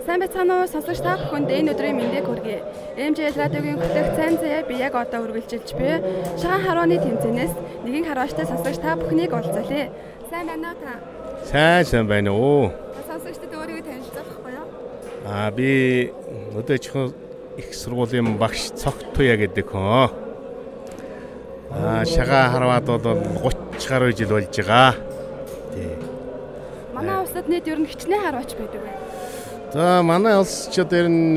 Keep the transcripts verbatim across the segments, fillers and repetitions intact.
Сайн байцгаана уу сонсогч та бүхэнд энэ өдрийн мэндийг хүргэе. эм жи эл радиогийн хөтлөх цайн заяа би яг одоо үргэлжилж буй. Шагаан харууны тэмцээнээс нэгэн харваачтай сонсогч та бүхнийг уулзъя. Сайн байна уу та? Сайн сайн байна уу. Сонсогчдод өөрийгөө танилцуулахгүй юу? Аа би өдөөчхөн их сургуулийн багш Цогтуя гэдэг хүн. Аа шагаан харваад бол гуч гаруй жил болж байгаа. Тий. Манай улсад нийт ер нь хичнээн харваач байдаг байна. За манай улс ч одоо ер нь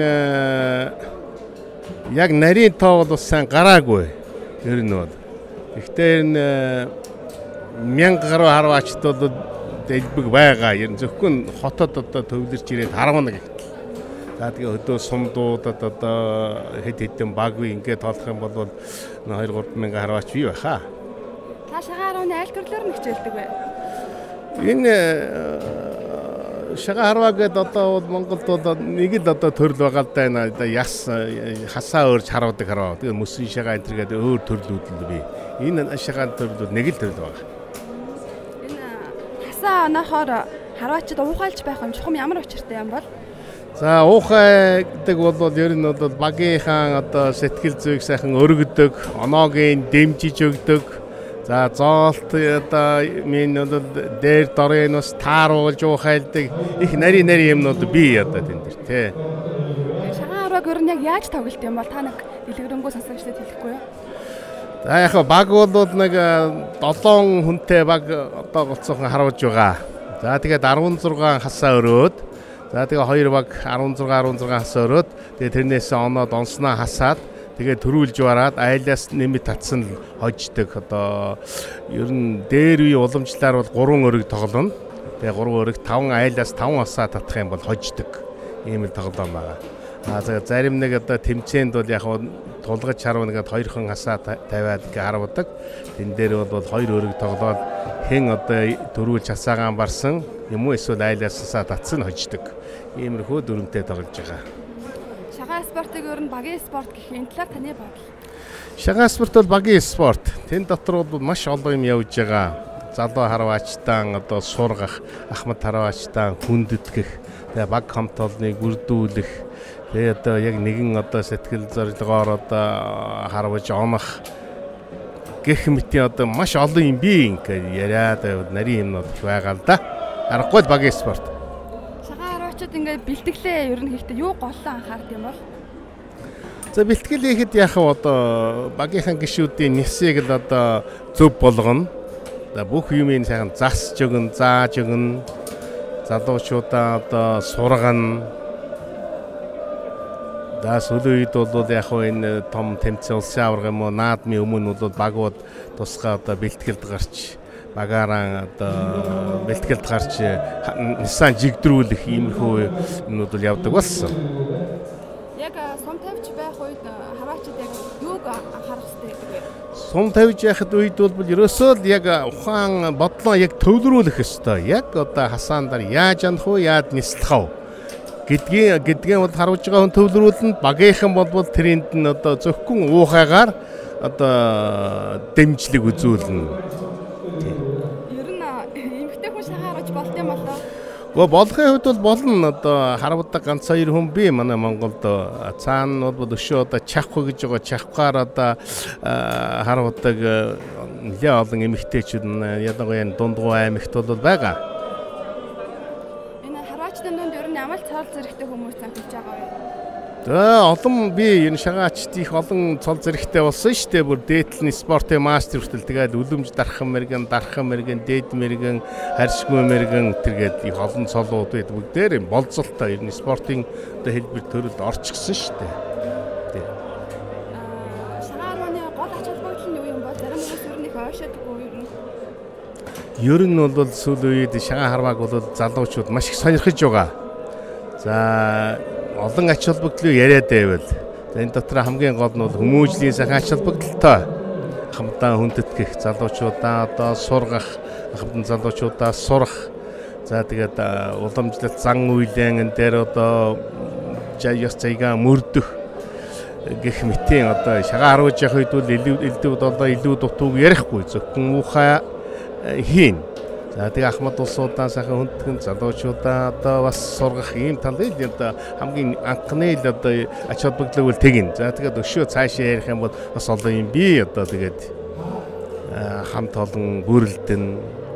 яг нарийн тоо бол сайн гараагүй ер нь бол. Гэхдээ ер нь мянга гаруй харваачд бол дэлбэг байгаа. Ер нь зөвхөн хотод одоо төвлөрч ирээд харвана гэх. За тэгээ өдөө сумдуудад одоо хэд хэдэн баггүй ингээд тоолох юм бол хоёр гурван мянган харваач бий байхаа. Та шагаан харууны аль төрлөөр нь хичээлдэг вэ? Энэ шагаан харваа гэдэг одоо Монголд бол нэг л одоо төрөл байгаа л да энэ одоо яс хасаа өөрч харуудаг харваа. Тэгээ мөсийн шагаан энэ гэдэг өөр төрлүүд л бий. Энэ шагаан төрлүүд нэг л төрөл байгаа. Энэ хасаа оноохоор харваачд уухайлж байх юм чухам ямар учиртай юм бол? За уухай гэдэг бол ер нь бол багийнхаа одоо сэтгэл зүйг сайхан өргөдөг, оноогийн дэмжиж өгдөг. За зоолт одоо минь бол дээр дорын бас тааруулж уухайлдаг их нари нари юмнууд бий одоо тэн дээр тий. Шагаан харвааг ер нь яг яаж тоглолт юм бол та нэг дэлгэрэнгүй сонсогчдод хэлэхгүй юу? За яг баг бол нэг долоон хүнтэй баг одоо голцоохон харуулж байгаа. За тэгээд арван зургаан хасаа өрөөд за тэгээ хоёр баг арван зургаан арван зургаан хасаа өрөөд тэгээ тэрнээс оноод онсноо хасаад тэгээ төрүүлж бараад айлаас нэмэт татсан л хождог. Одоо ер нь дээр үе уламжлаар бол гурван өрөг тоглоно. Тэгээ гурван өрөг таван айлаас таван осаа татах юм бол хождог. Ийм л тоглоом байгаа. Аа за зарим нэг одоо тэмцээнд бол яг тулгаж харвна гэдэг хоёрхан хасаа тавиад гэ харвдаг. Тэн дээр бол хоёр өрөг тоглоод хэн одоо төрүүлж хасаагаан барсан юм уу эсвэл айлаас хасаа татсан хождог. Иймэрхүү дүрмтэй тоглож байгаа. Шагаан спортыг ер нь багийн спорт гэх энэ талаар таны бодол? Шагаан спорт бол багийн спорт. Тэн дотор бол маш олон юм явж байгаа. Залуу харваачтан одоо сургах, ахмад харваачтан хүндэтгэх, тэгээ баг хамт олныг бүрдүүлэх, тэгээ одоо яг нэгэн одоо сэтгэл зорилгоор одоо харваж онох гэх мэтийн одоо маш олон юм бий ингээ яриад нарийн юмнууд байгаа л да. Аргагүй багийн спорт. Ингээд бэлтгэлээ ер нь хийхдээ юу голлоо анхаард юм бол? За бэлтгэл хийхэд яг одоо багийнхан гишүүдийн нисийг л одоо зөв болгоно. За бүх юмыг сайхан засж өгнө, зааж өгнө. Залуучуудаа одоо сургана. За сүүлийн үед бол яг энэ том тэмцээн улсын аварга юм уу наадмын өмнө бол багууд тусгай одоо бэлтгэлд гарч багаараа одоо бэлтгэлд гарч нисaan жигдрүүлэх иймэрхүү юмнууд бол явдаг болсон. Яг сум тавьж байх үед харваачид яг юуг анхаарах хэрэгтэй гэдэг вэ? Сум тавьж байхад үед бол ерөөсөө л яг ухаан бодлоо яг төвлөрүүлэх ёстой. Яг одоо хасаандар яаж анах вэ, яаж нислэх вэ гэдгийн гэдгийн бол харуулж байгаа хүн төвлөрүүлнэ. Багийнхан бол тэрэнд нь одоо зөвхөн уухайгаар одоо дэмжлэг үзүүлнэ. Гоо болохын хувьд бол болно. Одоо харвдаг ганц хоёр хүн бий манай Монголд. Цаана бол өшөө одоо чавх гэж байгаа. Чавхаар одоо харвдаг нэлээ олон эмэгтэйчүүд ялангуяа дундгуу аймагт бол байгаа. Энэ харваачдын дунд ер нь ямар цол зэрэгтэй хүмүүс амтж байгаа вэ? За олон би энэ шагаачд их олон цол зэрэгтэй болсон шүү дээ. Бүр дээдлэн спортын мастер хүртэл тэгээд үлэмж дархан мэргэн, дархан мэргэн, дээд мэргэн, харьшгүй мэргэн тэргээд их олон цолууд байд бүгдээр болцолтой ер нь спортын одоо хэлбэр төрөлд орчихсон шүү дээ. Тий. Аа шагааны гол ач холбогдол нь юу юм бол зарим хүмүүс ер нь их ойшоодгүй ер нь. Ер нь бол сүүлийн үед шагаан харвааг бол залуучууд маш их сонирхож байгаа. За олон ач холбогдлыг яриад байвал энэ дотор хамгийн гол нь бол хүмүүжлийн сайхан ач холбогдолтой хамтдаа хүндэтгэх залуучуудаа одоо сургах хамтдан залуучуудаа сурах за тэгээд уламжлалт зан үйлэн дээр одоо яс цайгаа мөрдөх гэх мэтийн одоо шагаан харуулж явах үед бол илүү илүү одоо илүү дутууг ярихгүй зөвхөн ухаа хийн За тэгээ Ахмад улсуудаа сайхан хүндхэн залуучуудаа одоо бас сургах ийм талын одоо хамгийн анхны л одоо ач холбогдлого бол тэгин. За тэгээд өшөө цаашаа ярих юм бол бас олон юм би одоо тэгээд хамт олон бүрэлдэн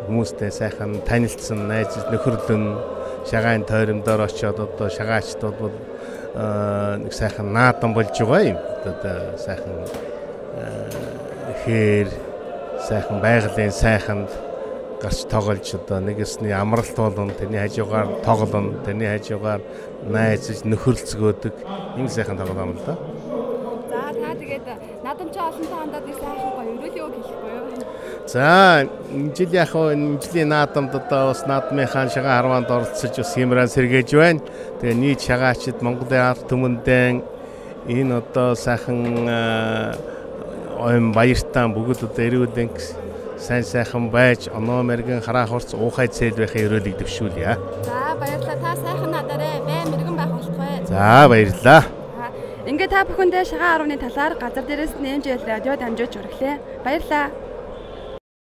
хүмүүстэй сайхан танилцсан найз нөхөрлөн шагаан тойромдоор очиод одоо шагаачдод бол нэг сайхан наадан болж байгаа юм. Одоо сайхан хээр сайхан байгалийн сайханд гарч тоглож одоо нэгэсний амралт болон тэрний хажуугаар тоглоно, тэрний хажуугаар найзж нөхөрлцгөөдөг ийм сайхан тоглоом л да. За та тэгээд наадамчаа олонтой хандаад нэг сайхан гоё өрөөл юу хэлэхгүй юу? За энэ жил яг энэ жилийн наадамд одоо бас наадмынхаа шагаан харваанд оролцож бас хэмрэн сэргээж байна. Тэгээ нийт шагаачид Монголын ард түмэндээ энэ одоо сайхан оюун баяртаа бүгд одоо эрүүлэн сайн сайхан байж оноо мэргэн хараа хурц уухай цэл байхын өрөөлийг дэвшүүлье. За баярлалаа. Та сайхан надараа бай мэргэн байх болтугай. За баярлалаа. Ингээд та бүхэндээ шагаан арваны талаар газар дээрээс нэмж ял радио дамжуулж өргөлээ. Баярлалаа.